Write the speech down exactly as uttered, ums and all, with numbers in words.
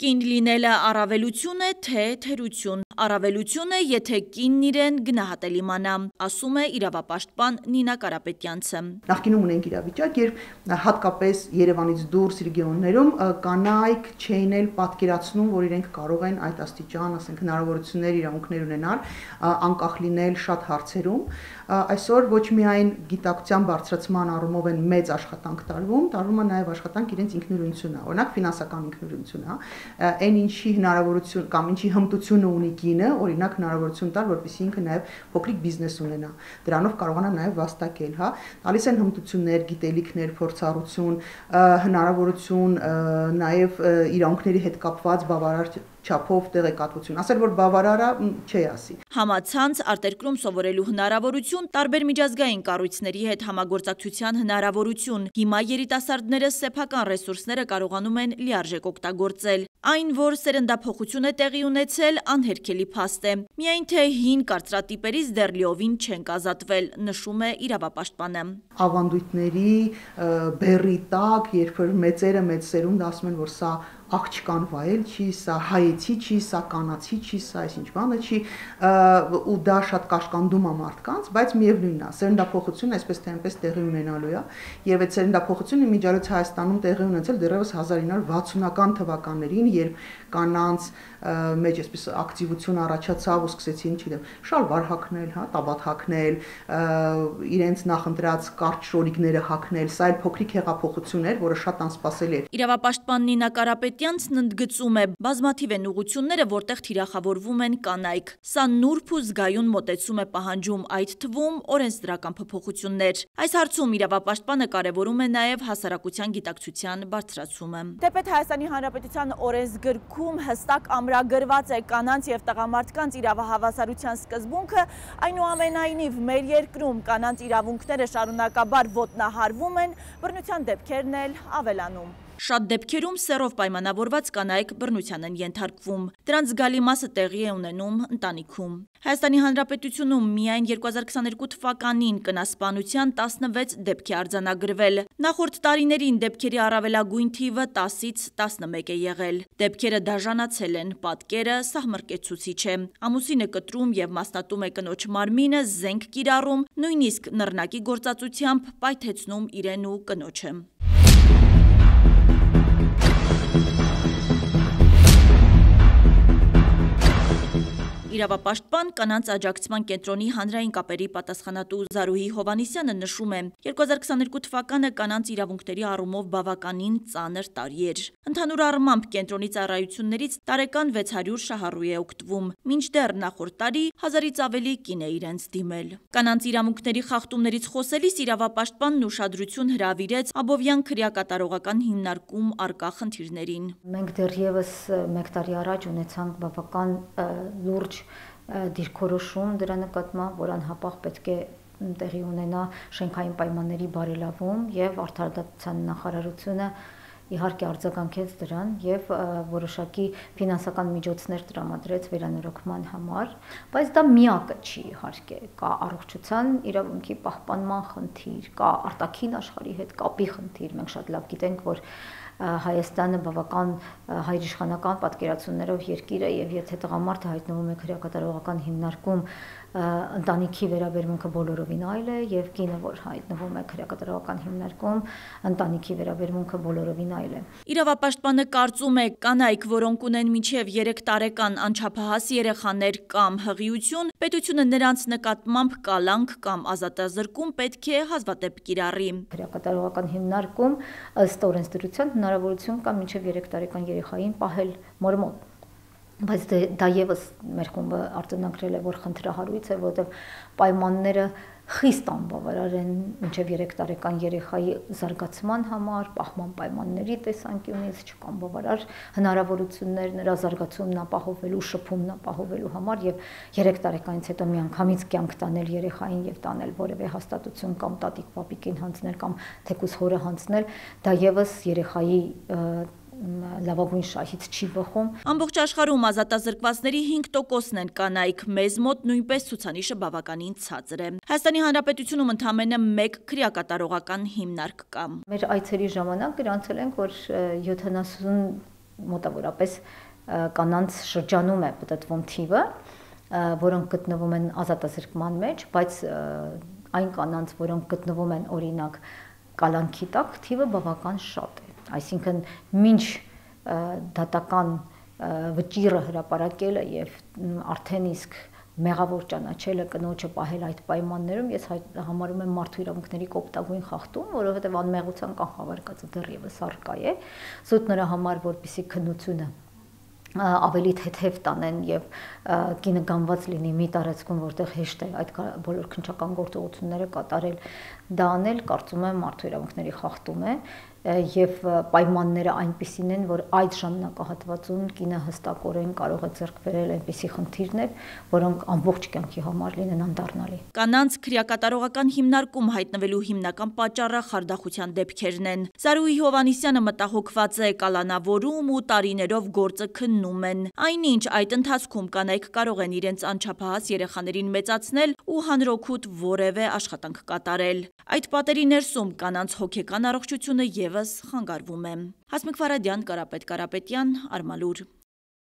Կին լինելը առավելություն է, թե թերություն։ Առավելություն է, եթե կինն իրեն գնահատել իմանա, ասում է իրավապաշտպան Նինա Կարապետյանցը։ Նախկինում ունենք իրավիճակ, երբ հատկապես Երևանից դուրս ռեգիոններում կանայք չէին էլ պատկերացնում, որ իրենք կարող են այդ աստիճան, ասենք, հնարավորություններ, իրավունքներ ունենալ, անկախ լինել շատ հարցերում։ Այսօր ոչ միայն գիտակցության բարձրացման առումով են մեծ աշխատանք տարվում, տարվում է նաև աշխատանք իրենց ինքնուրույնությունը, օրինակ ֆինանսական ինքնուրույնությունը, այն ինչի հնարավորություն կամ ինչի հմտությունը ունի կինը, օրինակ հնարավորություն տալ, որպեսզի ինքը նաև փոքրիկ բիզնես ունենա, դրանով կարողանա նաև վաստակել, հա, տալիս են հմտություններ, գիտելիքներ, փորձառություն, հնարավորություն նաև իրավունքների հետ կապված բավարար չափով տեղեկատվություն, ասել որ բավարարա չի ասի։ Համացանց, արտերկրում սովորելու հնարավորություն, տարբեր միջազգային կառույցների հետ համագործակցության հնարավորություն։ Հիմա երիտասարդները սեփական ռեսուրսները կարողանում են լիարժեք օգտագործել։ Այն, որ սերնդափոխություն է տեղի ունեցել, անհերքելի փաստ է։ Միայն թե հին կարծրատիպերից դեռ լիովին չենք ազատվել, նշում է իրավապաշտպանը։ Ավանդույթների բեռի տակ, երբ որ մեծերը մեծ սերունդը ասում են, որ սա աղջկան վայել չի, սա հայեցի չի, սա կանացի չի, սա այսինչ բանը չի, ու դա շատ կաշկանդում է մարդկանց, բայց միևնույնն է, սերնդափոխությունը այսպես թե այնպես տեղի ունենալու է, եւ այդ սերնդափոխությունը իմիջիայլոց Հայաստանում տեղի ունեցել դեռևս հազար ինը հարյուր վաթսունական թվականներին, երբ կանանց մեջ այսպես ակտիվություն առաջացավ ու սկսեցին, չգիտեմ, շալվար հագնել, հա, տաբատ հագնել, իրենց նախընտրած կարճ շորիկները հագնել, սա այլ փոքրիկ հեղափոխություն էր, որը շատ անսպասելի էր։ Իրավապաշտպան Նինա Կարապետյանցն ընդգծում է, բազմաթիվ են ուղղությունները, որտեղ թիրախավորվում են կանայք։ Սա նուրբ ու զգայուն մոտեցում է պահանջում, այդ թվում օրենսդրական փոփոխություններ։ Այս հարցում իրավապաշտպանը կարևորում է նաև հասարակության գիտակցության բարձրացումը։ Թեպետ Հայաստանի Հանրապետության օրենսգրքում հստակ ամրագրված է կանանց եւ տղամարդկանց իրավահավասարության սկզբունքը, այնուամենայնիվ մեր երկրում կանանց իրավունքները շարունակաբար ոտնահարվում են, բռնության դեպքերն էլ ավելանում։ Շատ դեպքերում սեռով պայմանավորված կանայք բռնության են ենթարկվում։ Դրանց զգալի մասը տեղի է ունենում ընտանիքում։ Հայաստանի Հանրապետությունում միայն երկու հազար քսաներկու թվականին կնասպանության տասնվեց դեպք է արձանագրվել։ Նախորդ տարիներին դեպքերի առավելագույն թիվը տասից տասնմեկ է եղել։ Դեպքերը դաժանացել են, պատկերը սահմռկեցուցիչ է։ Ամուսինը կտրում եւ մասնատում է կնոջ մարմինը, զենք կիրառում, նույնիսկ նռնակի գործածությամբ պայթեցնում իրեն ու կնոջը։ Իրավապաշտպան կանանց աջակցման կենտրոնի հանրային կապերի պատասխանատու Զարուհի Հովհաննիսյանը նշում է, երկու հազար քսաներկու թվականը կանանց իրավունքների առումով բավականին ծանր տարի էր։ Ընդհանուր առմամբ կենտրոնի ծառայություններից տարեկան վեց հարյուր շահառու է օգտվում, մինչդեռ նախորդ տարի հազարից ավելի կին է իրենց դիմել։ Կանանց իրավունքների խախտումներից խոսելիս իրավապաշտպանն ուշադրություն հրավիրեց Աբովյան քրեակատարողական հիմնարկում առկա խնդիրներին։ Մենք դեռևս մեկ տարի առաջ ունեցանք բավական լուրջ դիրքորոշում դրա նկատմամբ, որ անհապաղ պետք է տեղի ունենա շենքային պայմանների բարելավում եւ արդարադատության նախարարությունը իհարկե արձագանքեց դրան եւ որոշակի ֆինանսական միջոցներ տրամադրեց վերանորոգման համար, բայց դա միակը չի իհարկե, կա առողջության իրավունքի պահպանման խնդիր, կա արտաքին աշխարհի հետ կապի խնդիր, մենք շատ լավ գիտենք, որ Հայաստանը բավական հայրիշխանական պատկերացումներով երկիր է եւ եթե տղամարդը հայտնվում է քրեակատարողական հիմնարկում, ընտանիքի վերաբերմունքը բոլորովին այլ է եւ կինը, որ հայտնվում է քրեակատարողական հիմնարկում, ընտանիքի վերաբերմունքը բոլորովին այլ է։ Իրավապաշտպանը կարծում է, կանայք, որոնք ունեն մինչև երեք տարեկան անչափահաս երեխաներ կամ հղիություն, պետությունը նրանց նկատմամբ կալանք կամ ազատազրկում պետք է հազվադեպ կիրառի։ Քրեակատարողական հիմնարկում ըստ օրենսդրության հնարավորություն կա մինչև երեք տարեկան երեխային պահել մոր մոտ։ Բայց դա եւս մեր խումբը արձանագրել է, որ խնդրահարույց է, որովհետեւ պայմանները խիստ անբավարար են մինչև երեք տարեկան երեխայի զարգացման համար, պահման պայմանների տեսանկյունից չկան բավարար հնարավորություններ նրա զարգացումն ապահովելու, շփումն ապահովելու համար եւ երեք տարեկանից հետո միանգամից կյանք տանել երեխային եւ տանել որևէ հաստատություն կամ տատիկ պապիկին հանձնել կամ թեկուզ հորը հանձնել, դա եւս երեխայի լավագույն շահից չի բխում։ Ամբողջ աշխարհում ազատազրկվածների հինգ տոկոսն են կանայք, մեզ մոտ նույնպես ցուցանիշը բավականին ցածր է։ Հայաստանի Հանրապետությունում ընդամենը մեկ քրեակատարողական հիմնարկ կա։ Մեր այցերի ժամանակ գրանցել ենք, որ յոթանասուն մոտավորապես կանանց շրջանում է պատտվում թիվը, որոնք գտնվում են ազատազրկման մեջ, բայց այն կանանց, որոնք գտնվում են օրինակ կալանքի տակ, թիվը բավական շատ է։ Այսինքն մինչ դատական վճիռը հրապարակելը եւ արդեն իսկ մեղավոր ճանաչելը կնոջը պահել այդ պայմաններում, ես համարում եմ մարդու իրավունքների կոպտագույն խախտում, որովհետեւ անմեղության կանխավարկածը դեռևս առկա է, զուտ նրա համար, որպեսզի քննությունը ավելի թեթև տանեն եւ կինը գանված լինի մի տարածքում, որտեղ հեշտ է այդ բոլոր քննչական գործողությունները կատարել, դա անել, կարծում եմ, մարդու իրավունքների խախտում է եւ պայմանները այնպիսին են, որ այդ ժամանակահատվածում կինը հստակորեն կարող է ձեռք բերել այնպիսի խնդիրներ, որոնք ամբողջ կյանքի համար լինեն անդառնալի։ Կանանց քրեակատարողական հիմնարկում հայտնվելու հիմնական պատճառը խարդախության դեպքերն են։ Զարուհի Հովհաննիսյանը մտահոգված է կալանավորում ու տարիներով գործը քննում են։ Այնինչ այդ ընթացքում կանայք կարող են իրենց անչափահաս երեխաներին մեծացնել ու հանրօգուտ որևէ աշխատանք կատարել։ Այդ պատերի ներսում կանանց հոգեկան առողջությունը եւս խանգարվում է։ Հասմիկ Ֆարադյան, Կարապետ Կարապետյան, Արմալուր։